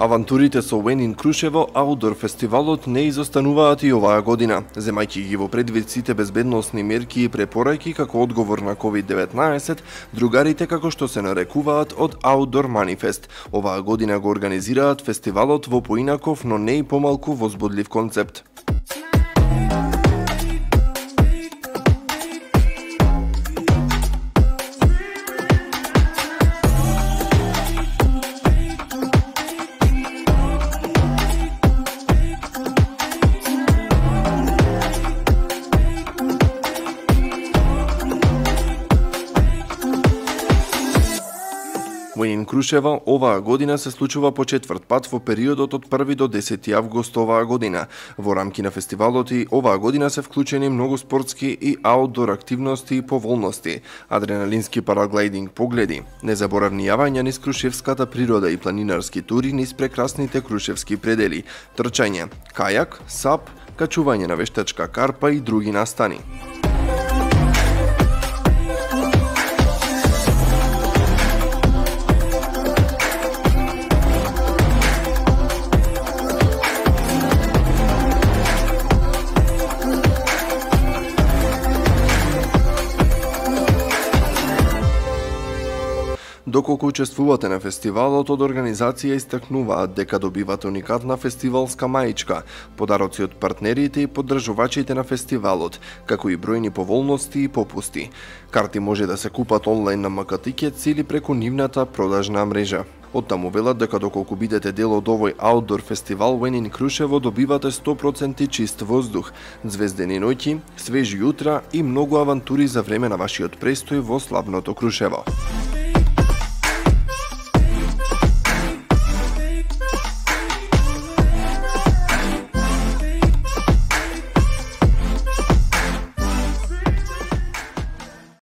Авантурите со When in Крушево Outdoor фестивалот не изостануваат и оваа година, земајќи ги во предвид сите безбедносни мерки и препораки како одговор на COVID-19, другарите како што се нарекуваат од Outdoor Manifest, оваа година го организираат фестивалот во поинаков, но не и помалку возбудлив концепт. When in Крушево оваа година се случува по четврт пат во периодот од 1 до 10 август оваа година. Во рамки на фестивалот и оваа година се вклучени многу спортски и аутдор активности и поволности, адреналински параглайдинг погледи, незаборавни јавања низ крушевската природа и планинарски тури низ прекрасните крушевски предели, трчање, кајак, сап, качување на вештачка карпа и други настани. Доколку учествувате на фестивалот, од организација истакнуваат дека добивате уникатна фестивалска маичка, подароци од партнерите и поддржувачите на фестивалот, како и бројни поволности и попусти. Карти може да се купат онлайн на МК-Тикетс или преку нивната продажна мрежа. Оттаму велат дека доколку бидете дел од овој аутдор фестивал When in Крушево, добивате 100% чист воздух, звездени ноќи, свежи утра и многу авантури за време на вашиот престој во славното Крушево.